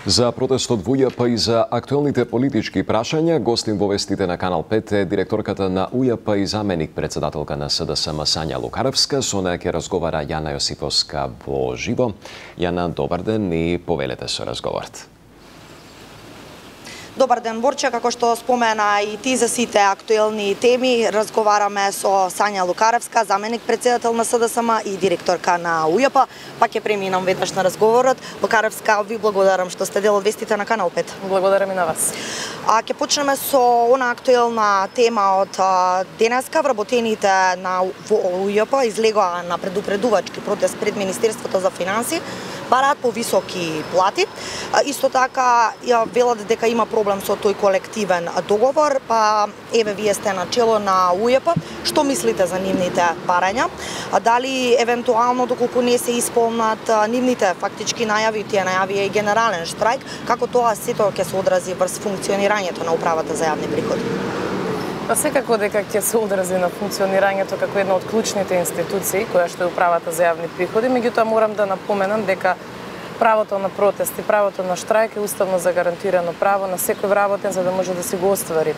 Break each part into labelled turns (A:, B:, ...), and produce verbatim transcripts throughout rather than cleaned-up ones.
A: За протестот во УЈП и за актуелните политички прашања, гостин во вестите на Канал пет е директорката на УЈП и заменик председателка на СДСМ Сања Лукаревска. Со неја ќе разговара Јана Јосифовска во живо. Јана, добар ден и повелете со разговорот.
B: Добар ден, Борче, како што спомена и ти за сите актуелни теми, разговараме со Сања Лукаревска, заменик председател на СДСМ и директорка на УЈП. Па ќе преминам веднаш на разговорот. Лукаревска, ви благодарам што сте дел од вестите на Канал пет.
C: Благодарам и на вас.
B: А ќе почнеме со она актуелна тема од денеска. Вработените на УЈП излегоа на предупредувачки протест пред Министерството за финансии, бараат повисоки плати. Исто така ја велат дека има проблем со тој колективен договор, па еве вие сте на чело на УЈП. Што мислите за нивните барања? Дали евентуално доколку не се исполнат нивните фактички најави, тие најави и генерален штрајк, како тоа сето ќе се одрази врз функционирањето на управата за јавни приходи?
C: Па секако дека ќе се одрази на функционирањето како една од клучните институции која што е управата за јавни приходи, меѓутоа морам да напоменам дека правото на протест и правото на штрајк е уставно загарантирано право на секој вработен за да може да си го оствари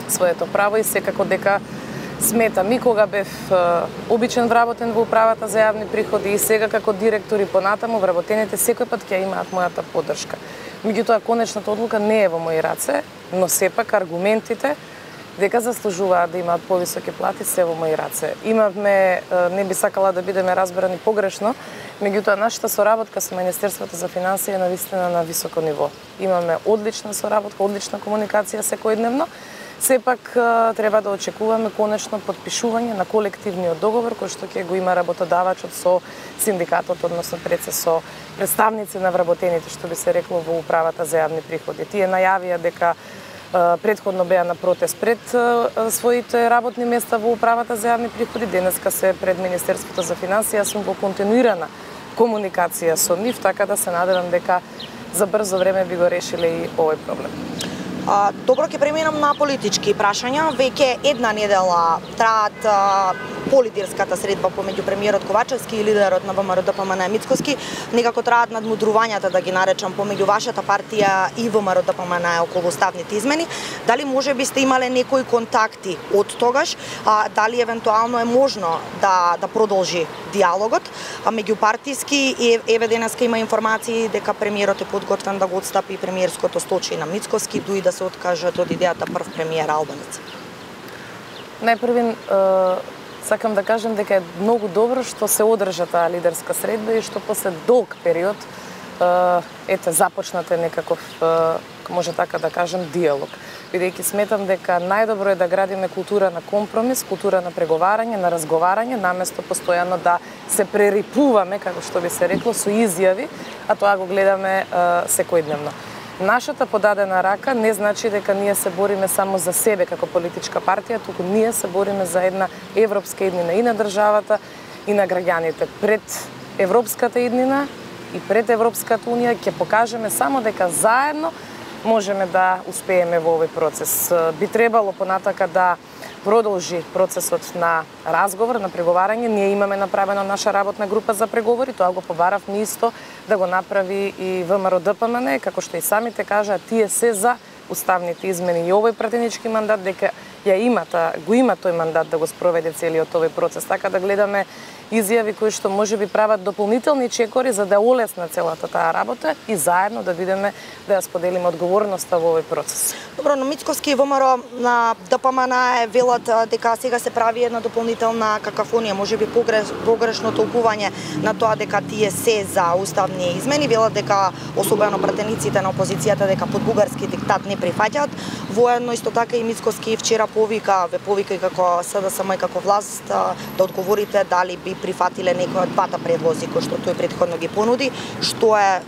C: своето право и секако дека сметам и кога бев е, обичен вработен во управата за јавни приходи и сега како директор и понатаму вработените секој пат ќе имаат мојата поддршка. Меѓутоа конечната одлука не е во мои раце, но сепак аргументите дека заслужуваат да имаат повисоки плати се во мои раце. Имавме, не би сакала да бидеме разбрани погрешно, меѓутоа нашата соработка со Министерството за финансии е навистина на високо ниво. Имаме одлична соработка, одлична комуникација секојдневно. Сепак треба да очекуваме конечно потпишување на колективниот договор кој што ќе го има работодавачот со синдикатот, односно пред се со представници на вработените, што би се рекло во управата за јавни приходи. Тие најавија дека предходно беа на протест пред своите работни места во управата за јавни приходи, денеска се пред Министерството за финансии, сум во континуирана комуникација со нив, така да се надевам дека за брзо време би го решиле и овој проблем.
B: А, добро, ќе преминам на политички прашања. Веќе една недела траат полидирската средба помеѓу премиерот Ковачевски и лидерот на ВМРО-ДПМН Мицкоски. Некако траат надмудрувањата, да ги наречам, помеѓу вашата партија и ВМРО-ДПМН околу уставните измени. Дали може би сте имале некои контакти од тогаш? А, дали евентуално е можно да да продолжи диалогот а меѓупартиски? И еве денеска има информации дека премиерот е подготвен да го отстапи премиерското столче на Мицкоски, дуи да се откажат од идејата прв премиер Албанец.
C: Најпрвин сакам да кажем дека е многу добро што се одржа таа лидерска средба и што после долг период ете започнате некаков, може така да кажем, диалог. Бидејќи сметам дека најдобро е да градиме култура на компромис, култура на преговарање, на разговарање, наместо постојано да се прерипуваме, како што би се рекло, со изјави, а тоа го гледаме секојдневно. Нашата подадена рака не значи дека ние се бориме само за себе како политичка партија, туку ние се бориме за една европска иднина и на државата и на граѓаните. Пред европската иднина и пред Европската унија ќе покажеме само дека заедно можеме да успееме во овој процес. Би требало понатака да продолжи процесот на разговор, на преговарање. Ние имаме направена наша работна група за преговори, тоа го побаравме исто да го направи и ВМРО-ДПМН, како што и самите кажа, тие се за уставните измени и овој пратенички мандат, дека ја имата, го има тој мандат да го спроведе целиот овој процес. Така да гледаме изјави кои што може би прават дополнителни чекори за да олесна целата таа работа и заедно да видиме да ја споделиме одговорноста во овој процес.
B: Добро, на Мицкоски и ВМРО на ДПМН велат дека сега се прави една дополнителна какафонија, може би погреш, погрешно толкување на тоа дека тие се за уставни измени, велат дека особено пратениците на опозицијата дека под бугарски диктат не прифаќаат. Воедно исто така и Мицкоски вчера повика, ве повика и како СДСМ и како власт да одговорите дали би прифатиле некој од двата предлози кои што тој претходно ги понуди, што е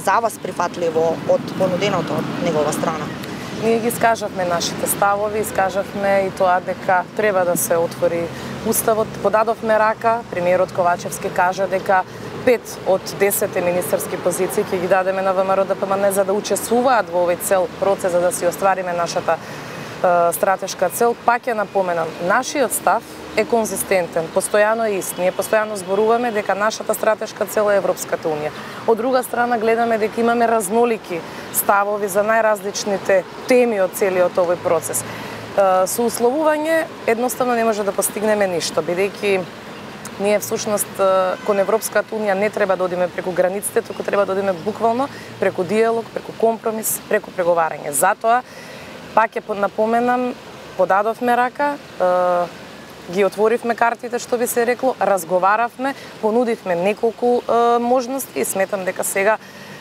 B: за вас прифатливо од понуденото од негова страна?
C: Ние ги скажавме нашите ставови, скажавме и тоа дека треба да се отвори уставот. Подадовме рака, премиерот Ковачевски кажа дека пет од десет министерски позиции ќе ги дадеме на ВМРО-ДПМН за да учествуваат во овој цел процес за да си оствариме нашата стратешка цел. Пак ќе напоменам, нашиот став е конзистентен, постојано е ист. Ние постојано зборуваме дека нашата стратешка цел е Европската унија. Од друга страна гледаме дека имаме разнолики ставови за најразличните теми од целиот овој процес. Со условување едноставно не може да постигнеме ништо, бидејќи ние всушност кон Европската унија не треба да одиме преку границите, туку треба да одиме буквално преку диалог, преку компромис, преку преговарање. Затоа, пак ќе напоменам, подадовме рака, ги отворивме картите, што би се рекло, разговаравме, понудивме неколку можности и сметам дека сега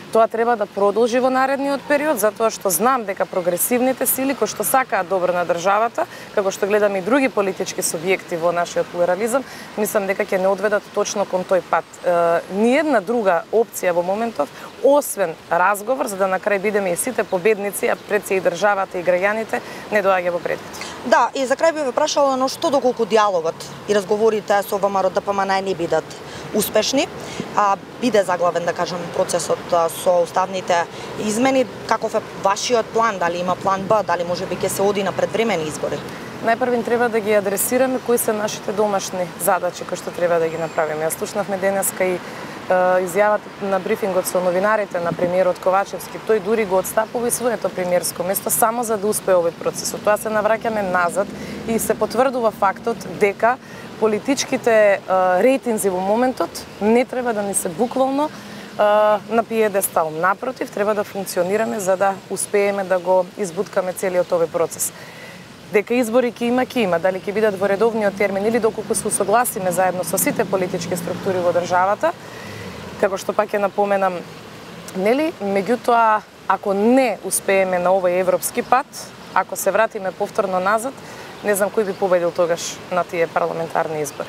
C: тоа треба да продолжи во наредниот период, затоа што знам дека прогресивните сили кои што сакаат добро на државата, како што гледаме и други политички субјекти во нашиот плурализам, мислам дека ќе не одведат точно кон тој пат. Е, ниедна друга опција во моментов, освен разговор, за да на крај бидеме и сите победници, а пред се и државата и граѓаните, не доаѓа во предвид.
B: Да, и за крај би ве прашала, но што доколку диалогот и разговорите со ВМРО Д П М Н не бидат успешни, а биде заглавен, да кажем, процесот со уставните измени, каков е вашиот план? Дали има план Б, дали може би ќе се оди на предвремени избори?
C: Најпрвин треба да ги адресираме кои се нашите домашни задачи кои што треба да ги направиме. Јас слушнавме денеска и изјавата на брифингот со новинарите на премиерот Ковачевски. Тој дури го отстапува и своето премиерско место само за да успее овој процес. Од тоа се навраќаме назад и се потврдува фактот дека политичките рейтинзи во моментот не треба да ни се буквално на пиедестал. Напротив, треба да функционираме за да успееме да го избуткаме целиот овој процес. Дека избори ќе има, ќе има, дали ќе бидат во редовниот термин или доколку се усогласиме заедно со сите политички структури во државата, како што пак ќе напоменам, нели, меѓутоа, ако не успееме на овој европски пат, ако се вратиме повторно назад, не знам кој би победил тогаш на тие парламентарни избори.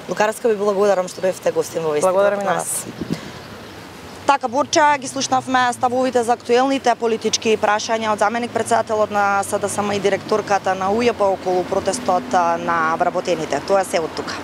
B: Лукаревска, ви благодарам што бевте гостин во вестникот.
C: Благодарам и на вас.
B: Така, Борча, ги слушнавме ставовите за актуелните политички прашања од заменик председателот на С Д С М и директорката на У Ј П околу протестот на вработените. Тоа се од тука.